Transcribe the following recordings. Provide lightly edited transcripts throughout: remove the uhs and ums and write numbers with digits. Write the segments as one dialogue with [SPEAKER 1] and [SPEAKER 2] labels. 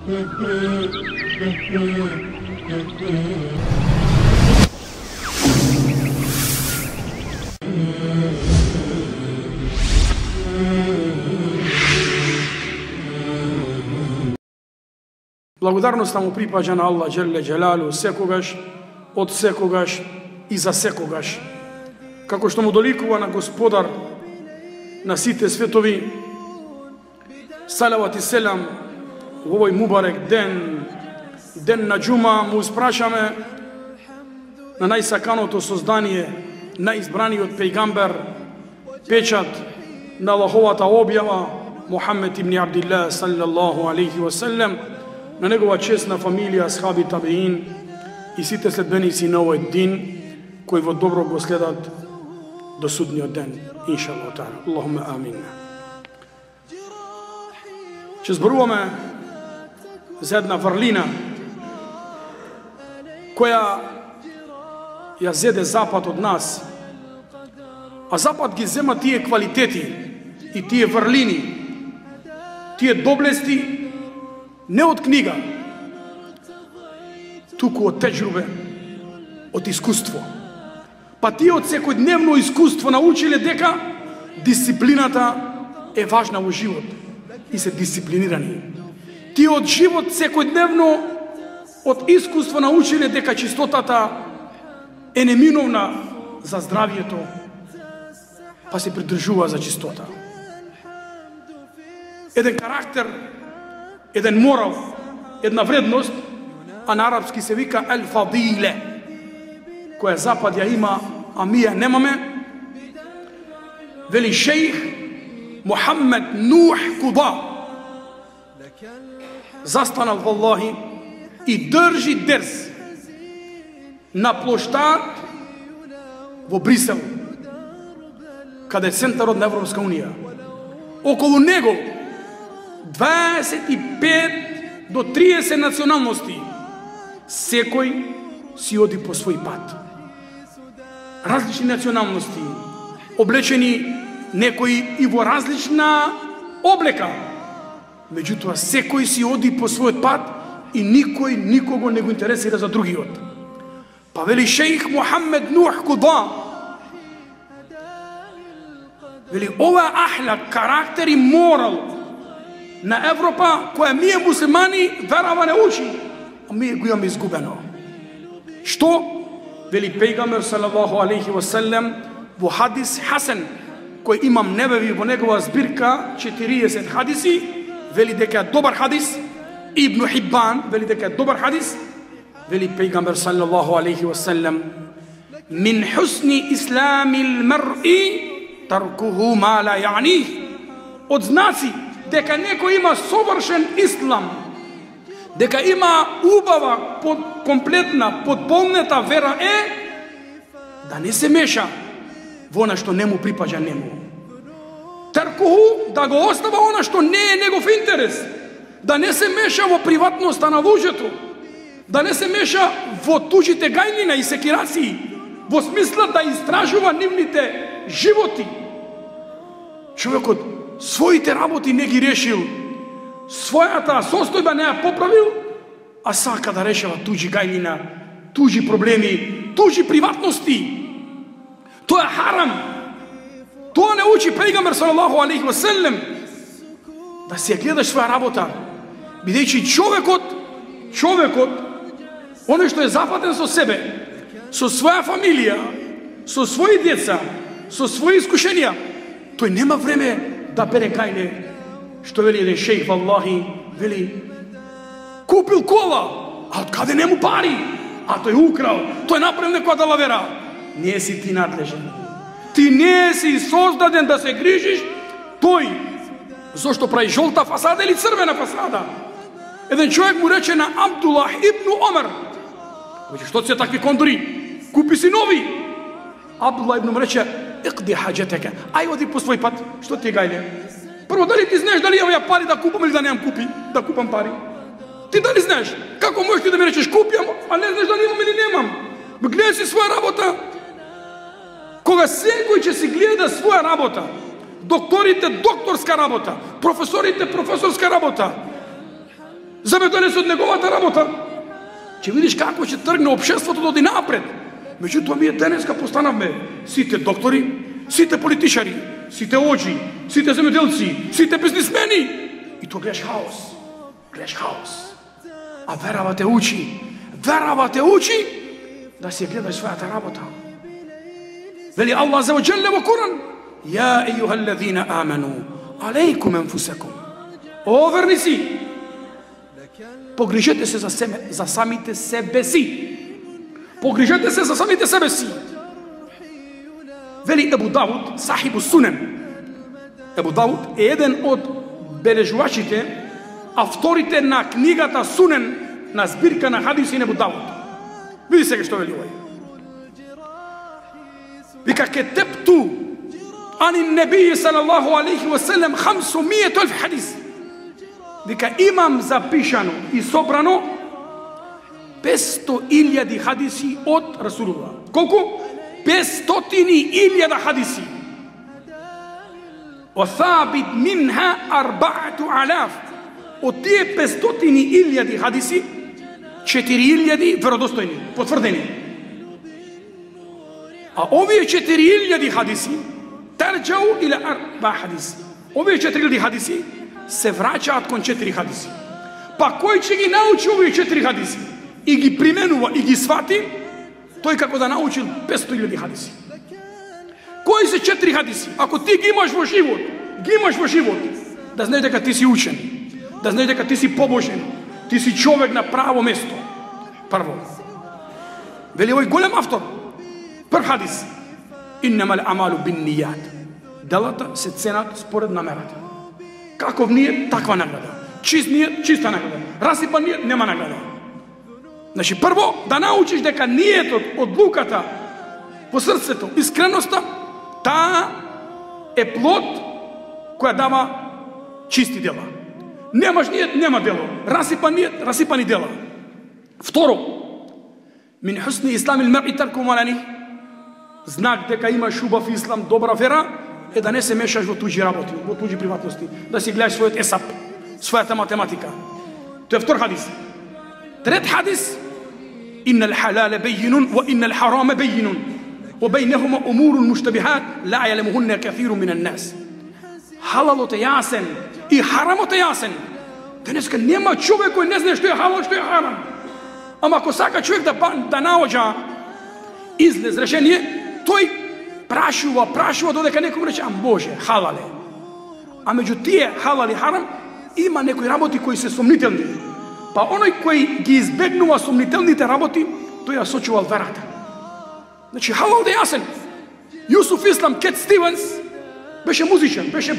[SPEAKER 1] Благодарноста му припаѓа на Аллах Джелле Джелалу секогаш, од секогаш и за секогаш. Како што му доликува на Господар на сите светови, салават и селам во овој мубарек ден, ден на џума, му испрашаме на најсаканото создание, најизбраниот пејгамбер, печат на Аллаховата објава, Мухаммед ибн Абдилlah саллаллаху алейхи ва саллем, на негова честна фамилија, асхаби, табеин и сите следбеници на овој дин, кои во добро го следат до судниот ден, иншаллах таала. Аллахуме амин. Че зборуваме за една врлина која ја зеде Запад од нас, а Запад ги зема тие квалитети и тие врлини, тие доблести не од книга, туку од теџрубе, од искуство. Па тие од секојдневно искуство научиле дека дисциплината е важна во живот и се дисциплинирани. Тие од живот секојдневно од искуство научиле дека чистотата е неминовна за здравието, па се придржува за чистота. Еден карактер, еден морал, една вредност, а на арапски се вика ел-фадиле, која Запад ја има, а ми ја немаме. Вели шејх Мухаммед Нух Куда застанал валлахи и држи дерс на плоштад во Брисел, каде е центарот на Европска унија. Околу него 25 до 30 националности. Секој си оди по свој пат. Различни националности, облечени некои и во различна облека. Меѓутоа, секој си оди по својот пат и никој никого не го интересира за другиот. Па вели шејх Мухаммед Нух Куда, вели ова ахлак, карактер и морал на Европа, која ние муслимани верава не учи, а ние го имаме изгубено. Што? Вели пејгамбер салаллаху алейхи ва саллем во хадис хасен, кој имам Небеви во негова збирка 40 хадиси, вели дека е добар хадис. Ибн Хиббан вели дека е добар хадис. Вели пејгамбер салаллаху алейхи ва саллем: мин хусни исламил мар'i таркуху ма ла я'них. Од знаци дека некој има совршен ислам, дека има убава, комплетна, потполнета вера е да не се меша во она што не му припаѓа нему. Таркуху, да го остава она што не е негов интерес, да не се меша во приватноста на луѓето, да не се меша во туѓите гајнина и секирации, во смисла да истражува нивните животи. Човекот своите работи не ги решил, својата состојба не ја поправил, а сака да решава туѓи гајнина, туѓи проблеми, туѓи приватности. Тоа е харам. Тоа не учи пејгамбер салаллаху алейхи ва саллем. Да си ја гледаш своја работа, бидејќи човекот, оној што е запатен со себе, со своја фамилија, со своји деца, со своји искушенија, тој нема време да бере гајне. Што вели еден шејх валлахи, вели купил кола, а од каде нему пари? А тој украл, тој направил некоја далавера. Не си ти надлежен. Ти не си создаден да се грижиш. Тој зошто прави жолта фасада или црвена фасада? Еден човек му рече на Абдуллах ибн Омер: веќе што се такви кондори? Купи си нови. Абдуллах ибн му рече: иқди хаџетека, ај оди по свој пат. Што ти гајле? Прво, дали ти знаеш дали имам ја пари да купам или да немам да купам пари? Ти дали знаеш? Како можеш ти да ми речеш купјам, а не знаеш дали имам или немам? Гледај си своја работа. Кога секој ќе си гледа своја работа, докторите докторска работа, професорите професорска работа, за да донесе од неговата работа. Ќе видиш како ќе тргне општеството да оди напред. Меѓутоа ние денеска постанавме сите доктори, сите политичари, сите оџи, сите земјоделци, сите бизнисмени. И тоа гледаш хаос. Гледаш хаос. А верава те учи да си гледаш својата работа. Вели Аллах за оџеле во Куран: "Ја ејухаллазина амену, алейкум анфусакум." О верници, погрижете се за самите себе си. Погрижете се за самите себе си. Вели Ебу Давуд, сахибу Сунен. Ебу Давуд е еден од бележувачите, авторите на книгата Сунен, на збирка на хадиси на Ебу Давуд. Види сега што вели овој. Вика кетебту ани небии салаллаху алейхи ва селем 500,000 хадис. Вика имам запишано и собрано 500,000 хадиси од Расулуллах. Колку? 500,000 хадиси. Осабит минха 4,000. Од тие 500,000 хадиси 4,000 веродостојни, потврдени. А овие 4,000 хадиси тарџау или 4 хадиси. Овие 4,000 хадиси се враќаат кон 4 хадиси. Па кој ќе ги научи овие 4 хадиси и ги применува и ги свати, тој како да научил 500,000 хадиси. Кои се 4 хадиси? Ако ти ги имаш во живот, да знаеш дека ти си учен, да знаеш дека ти си побожен, ти си човек на право место. Прво. Вели овој голем автор. Прв хадис. Иннамал амалу биннијат. Делата се ценат според намерата. Каков нијет, таква награда. Чист нијет, чиста награда. Расипан нијет, нема награда. Значи, прво, да научиш дека нијетот, одлуката по срцето, искреноста, таа е плод која дава чисти дела. Немаш нијет, нема дело. Расипан нијет, расипани дела. Второ, мин хусни ислам ил мар'i тарку малани. Знак дека имаш убав ислам, добра вера, е да не се мешаш во туѓи работи, во туѓи приватности, да си гледаш својот есап, својата математика. Тоа е втор хадис. Трет хадис: иннал халале бейинун ва иннал хараме бейинун ва бейнехума умурун муштабихат ла јалемухунне кафиру минан нас. Халалот е јасен и харамот е јасен. Денеска нема човек кој не знае што е халал, што е харам. Ама ако сака човек да наоѓа излез, решение, тој прашува додека некој рече: "А Боже, халале." А меѓу тие халал и харам има некои работи кои се сомнителни. Па оној кој ги избегнува сомнителните работи, тој ја сочувал верата. Значи халал е јасен. Јусуф Ислам Кет Стивенс беше музичар, беше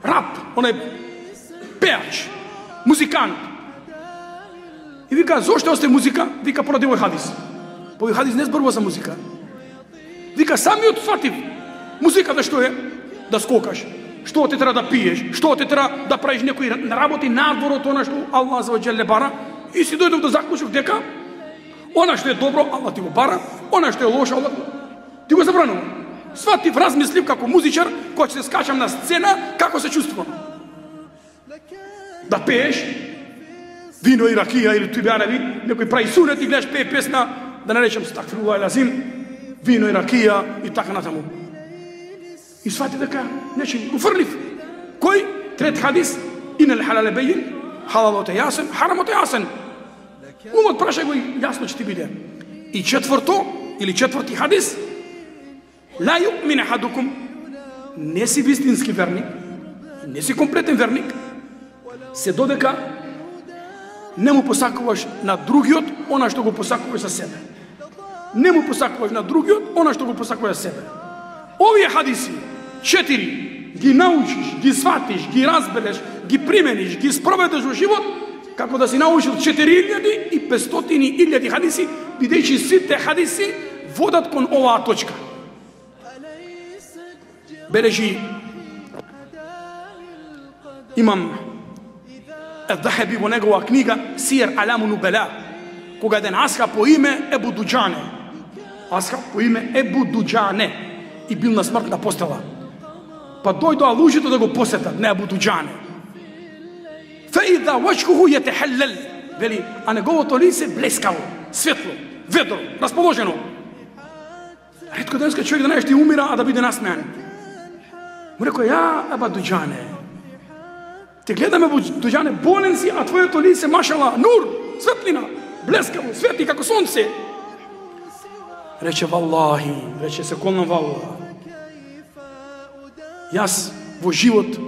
[SPEAKER 1] рап, оној пеач, музикант. И вика: "Зошто осте музика?" Вика: "Поради овој хадис." По овој хадис не зборува за музика. Вика: "Самиот сватив музиката што е? Да скокаш. Што те треба да пиеш, што те треба да правиш некои работи надвор од она што Аллах за оџеле бара." И си дојдов до заклучок дека она што е добро, Аллах ти го бара, она што е лошо, Аллах ти го забранува. Сватив, размислив како музичар, кој ќе се скачам на сцена, како се чувствувам. Да пееш вино и ракија или тубјареви, некој прави сунет и гледаш пее песна, да не речем стагфируллах лазим, вино и ракија и така натаму. И свати дека нече уфрлив. Кој? Трет хадис: инал халале бейин, халалот е јасен, харамот е јасен. Умот прашај го и јасно ќе ти биде. И четврто, или четврти хадис: ла ю'мин ахадукум, не си вистински верник, не си комплетен верник, се додека не му посакуваш на другиот она што го посакуваш за себе. Не му посакуваш на другиот она што го посакуваш за себе. Овие хадиси, 4, ги научиш, ги сватиш, ги разбереш, ги примениш, ги спроведеш во живот, како да си научил 4,500,000 хадиси, бидејќи сите хадиси водат кон оваа точка. Бележи имам Ад-Дахаби во негова книга Сиер Аламу Нубела, кога еден асхаб по име Ебу Дуџане, асхаб по име Ебу Дуџане, и бил на смртна постела. Па дојдоа луѓето да го посетат на Ебу Дуџане. Фе فَإِذَا وَجْهُهُ يَتَحَلَّلْ, вели, а неговото лице блескаво, светло, ведро, расположено. Ретко денеска човек да не ще умира, а да биде насмеян. Му рекao, ја, Аба Дуџане, те гледаме, Дуџане, болен си, а твоето лице, машала, нур, светлина, блескаво, светли како сонце. Рече, валлахи, рече, се колнам валлах. Јас во живот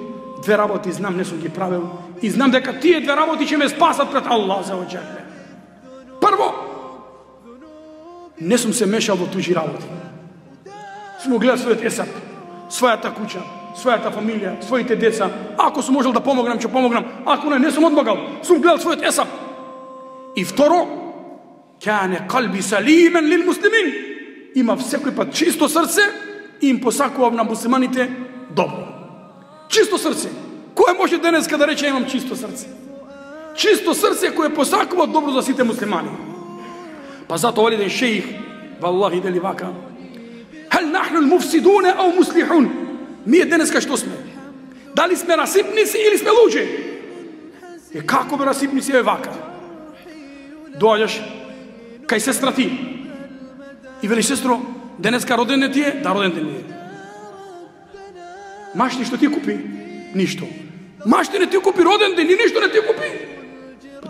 [SPEAKER 1] две работи знам, не сум ги правил, и знам дека тие две работи ќе ме спасат пред Аллах за оџакле. Прво, не сум се мешал во туѓи работи. Сум гледал својот есап, својата куќа, својата фамилија, своите деца. Ако сум можел да помогнам, ќе помогнам. Ако не сум одмогал. Сум гледал својот есап. И второ, кане калби салимен лил муслимин. Има секој пат чисто срце и им посакувам на муслиманите добро. Чисто срце. Кој може денеска да рече имам чисто срце? Чисто срце кое посакува добро за сите муслимани. Па затоа еден шејх, валлахи вели вака, Хал нахну l-mufsidune ау muslihun? Ние денеска што сме? Дали сме расипници или сме луѓе? И како бе расипници е вака? Доаѓаш кај сестра ти и вели, сестро, денеска роден ден ти е? Да, роден ден е. Машти што ти купи? Ништо. Машти не ти купи роден ден и ништо не ти купи.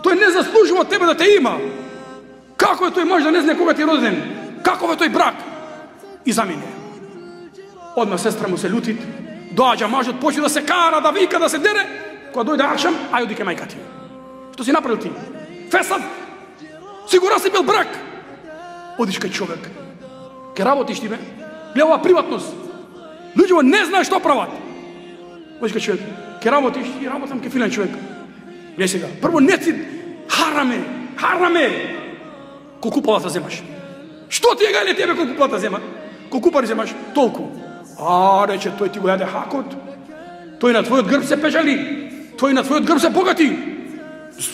[SPEAKER 1] Тој не заслужува тебе да те има. Како е тој маж да не знае кога ти е роден ден? Каков е тој брак? И замине. Одма сестра му се лутит, доаѓа мажот, почне да се кара, да вика, да се дере. Кога дојде акшам, ајде ке мајка ти. Што си направил ти? Фесад. Сигурно си бил брак. Одиш кај човек. Ке работиш ти, бе? Гледа ова приватност. Луѓето не знаат што прават. Одиш кај човек. Ке работиш, и работам ке филен човек. Гледај сега. Прво не си хараме. Колку плата земаш? Што ти е гајле тебе колку плата зема? Колку пари земаш? Толку. А, рече, тој ти го јаде хакот. Тој на твојот грб се пежали. Тој на твојот грб се богати.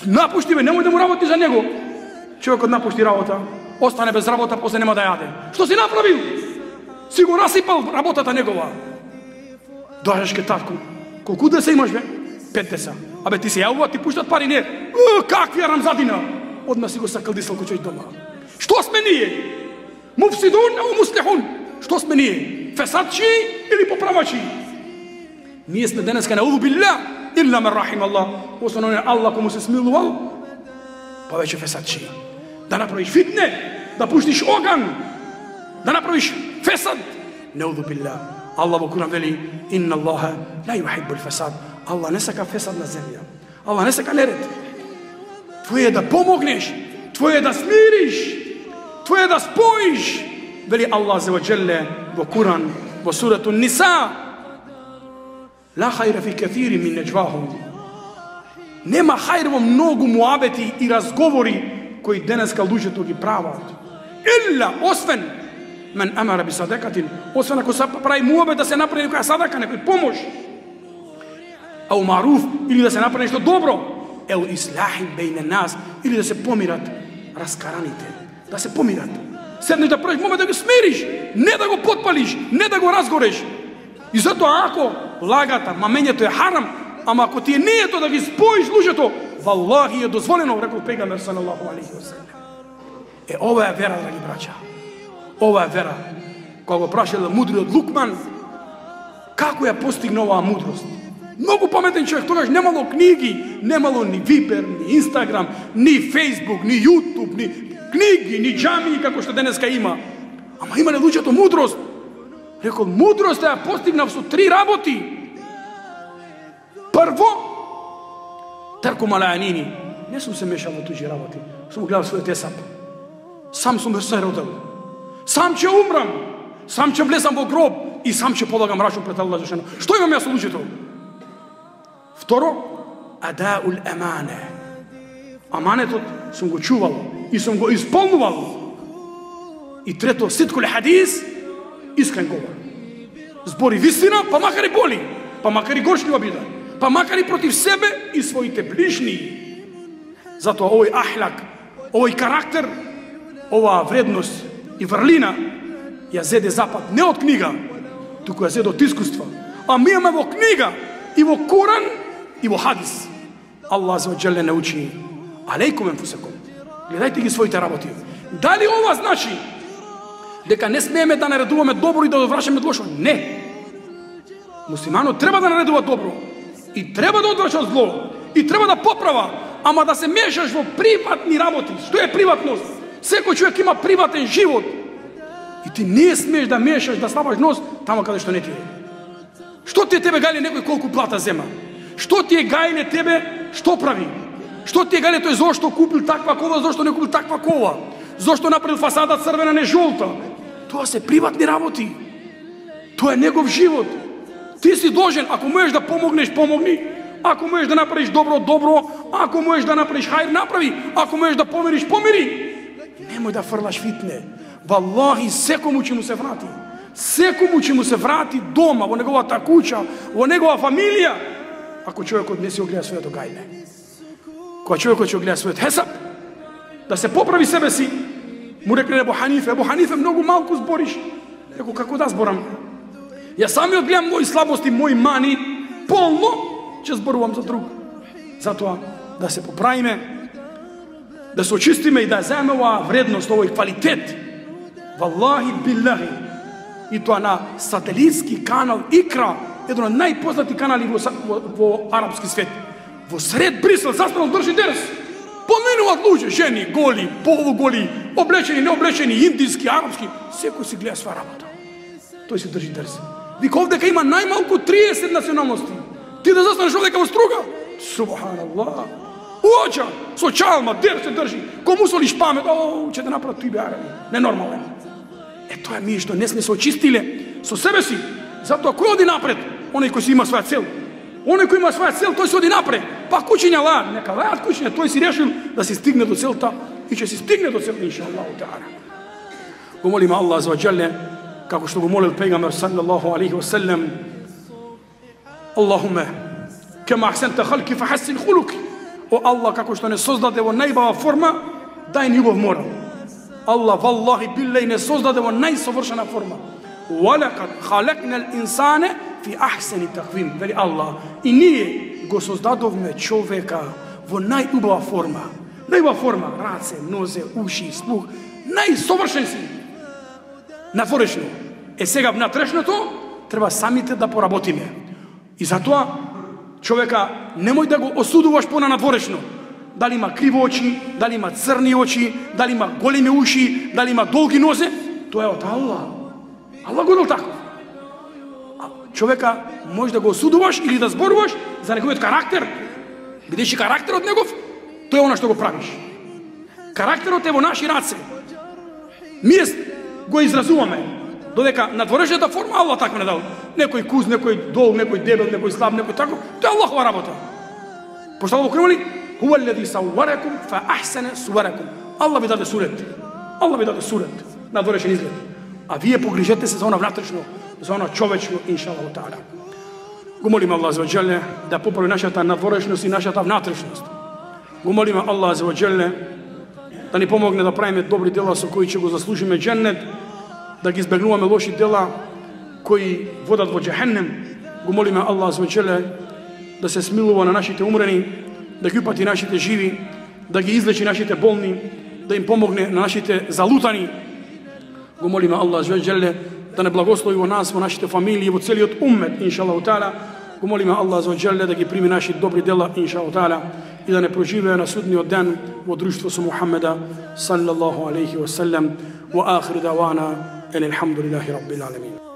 [SPEAKER 1] Напушти ме, немој да му работи за него. Човекот напушти работа, остане без работа, после нема да јаде. Што си направил? Си го расипал работата негова. Доаѓаш ке татко. Колку деца имаш, бе? 5 деца. Абе, ти се јавува, ти пуштат пари, не. Какви рамзадина? Одма си го сакалдисал кој човек дома. Што сме ние? Муфсидун ау муслихун? Што сме ние? Фесадчи или поправачи? Ние сме денеска на билла, илла мен рахим Аллах. Освен Аллах кому се смилувал, повеќе фесадчи. Да направиш фитне, да пуштиш оган, да направиш фесад. Неуду билла. Аллах во Куран вели, инна Аллаха ла юхиббул фесад. Аллах не сака фесад на земја. Аллах не сака неред. Твоје е да помогнеш, твоје е да смириш, твоје е да споиш. Вели Аллах азza wa jalla во Куран, во сурату Ниса, ла хајра фи катири мин неџвахум. Нема хајр во многу муабети и разговори кои денеска луѓето ги прават. Илла, освен мен амара би садакатин, освен ако се прави муабет да се направи некоја садака, некој помош, ау маруф, или да се направи нешто добро, ел ислахин бейне нас, или да се помират раскараните, да се помират. Седнеш да правиш момент да го смириш, не да го потпалиш, не да го разгореш. И затоа ако лагата, мамењето е харам, ама ако ти е нието да ги споиш луѓето, валлахи е дозволено, рекол пегамбер салаллаху алейхи ва салем. Ова е вера, драги браќа. Ова е вера. Кога го прашал мудриот Лукман, како ја постигна оваа мудрост? Многу паметен човек, тогаш немало книги, немало ни Вибер, ни Инстаграм, ни Фейсбук, ни Јутуб, ни книги, ни џамии како што денеска има. Ама имале луѓето мудрост. Рекол, мудрост ја постигнав со 3 работи. Прво, терку малајанини. Не сум се мешал во туѓи работи. Сум гледал својот есап. Сам сум се родил. Сам ќе умрам. Сам ќе влезам во гроб и сам ќе полагам рачун пред Аллах джелешано. Што имам јас со луѓето? Второ, адаул амане. Аманетот сум го чувал и сум го исполнувал. И трето, ситкул хадис, искрен говор. Збори вистина, па макар и боли, па макар и горчлива биде, па макар и против себе и своите ближни. Затоа овој ахлак, овој карактер, оваа вредност и врлина ја зеде Запад не од книга, туку ја зеде од искуства. А ми имаме во книга и во Куран и во хадис. Allah azza wa jalla ne uči alejkum enfusakum. Гледајте ги своите работи. Дали ова значи дека не смееме да наредуваме добро и да одврачаме од лошо? Не. Муслиманот треба да наредува добро и треба да одврача зло и треба да поправа, ама да се мешаш во приватни работи. Што е приватност? Секој човек има приватен живот. И ти не смееш да мешаш, да ставаш нос тамо каде што не ти е. Што ти е тебе гајле некој колку плата зема? Што ти е гајле тебе што прави? Што ти е гајле тој зошто купил таква кола, зошто не купил таква кола? Зошто направил фасада црвена, не жолта? Тоа се приватни работи. Тоа е негов живот. Ти си должен, ако можеш да помогнеш, помогни. Ако можеш да направиш добро, добро. Ако можеш да направиш хајр, направи. Ако можеш да помириш, помири. Немој да фрлаш фитне. Валлахи, секому ќе му се врати. Секому ќе му се врати дома, во неговата куќа, во негова фамилија, ако човекот не си огледа своето гајле. Кога човекот ќе огледа својот хесаб, да се поправи себе си, му рекле Ебу Ханифе, многу малку збориш. Реко, како да зборам? Ја самиот гледам мои слабости, мои мани, полно ќе зборувам за друг. Затоа да се поправиме, да се очистиме и да земеме оваа вредност, овој квалитет. Валлахи биллахи. И тоа на сателитски канал Икра, еден од најпознати канали во арапски свет. Во сред Брисел, застанал држи дерс. Поминуваат луѓе, жени, голи, полуголи, облечени, необлечени, индиски, арапски. Секој си гледа своја работа. Тој си држи дерс. Вика овдека има најмалку 30 националности. Ти да застанеш овдека во струга? Субханаллах. Уоча, со чалма, дерс се држи. Кому солиш памет? О, ќе да направат тој беараби. Ненормален. Тоа е ми што не сме се очистиле со себе си. Затоа кој оди напред? Оној кој си има своја цел. Оној кој има своја цел, тој се оди напред. Па куќиња лаат, нека лаат куќиња, тој си решил да се стигне до целта и ќе се стигне до целта иншаллаху таала. Го молиме Аллах азza wa jalla, како што го молил пегамбер саллаллаху алейхи ва селлем, Аллахуме, кема ахсента халки фахассин хулуки. О Аллах, како што не создаде во најбава форма, дај ни љубов морал. Allah vallahi billahi ne sozdaде во најсовршена форма. Валакад халакнал инсане фи ахсани таквим. Вели Allah. И ние го создадовме човека во најубава форма. Најубава форма, раце, нозе, уши, слух, најсовршен си. Надворешно. Е сега внатрешното треба самите да поработиме. И затоа човека немој да го осудуваш по надворешно. Дали има криво очи, дали има црни очи, дали има големи уши, дали има долги нозе, тоа е од Аллах. Аллах го дал таков. Човека може да го осудуваш или да зборуваш за неговиот карактер. Бидејќи карактерот негов, тоа е она што го правиш. Карактерот е во наши раце. Ние го изразуваме, додека надворешната форма Аллах така не дал. Некој куз, некој дол, некој дебел, некој слаб, некој тако, тоа е Аллахова работа. Пошто Аллах кренали, Huwa alladhi sawwarakum fa ahsana suwarakum. Allah ви даде сурет. Allah ви даде сурет. Надворешен изглед. А вие погрижете се за она внатрешно, за она човечно, иншаллаху таала. Го молиме Allah azza wa jalla да поправи нашата надворешност и нашата внатрешност. Го молиме Allah azza wa jalla да ни помогне да правиме добри дела со кои ќе го заслужиме џеннет, да ги избегнуваме лоши дела кои водат во џехеннем. Го молиме Allah azza wa jalla да се смилува на нашите умрени, да ги упати нашите живи, да ги излечи нашите болни, да им помогне на нашите залутани. Го молиме Аллах azza wa jalla да не благослови во нас, во нашите фамилии, во целиот уммет, иншаллаху таала. Го молиме Аллах azza wa jalla да ги прими нашите добри дела, иншаллаху таала, и да не проживее на судниот ден во друштво со Мухаммеда саллаллаху алейхи ва саллем. Wa akhiru dawana alhamdulillahi rabbil alamin.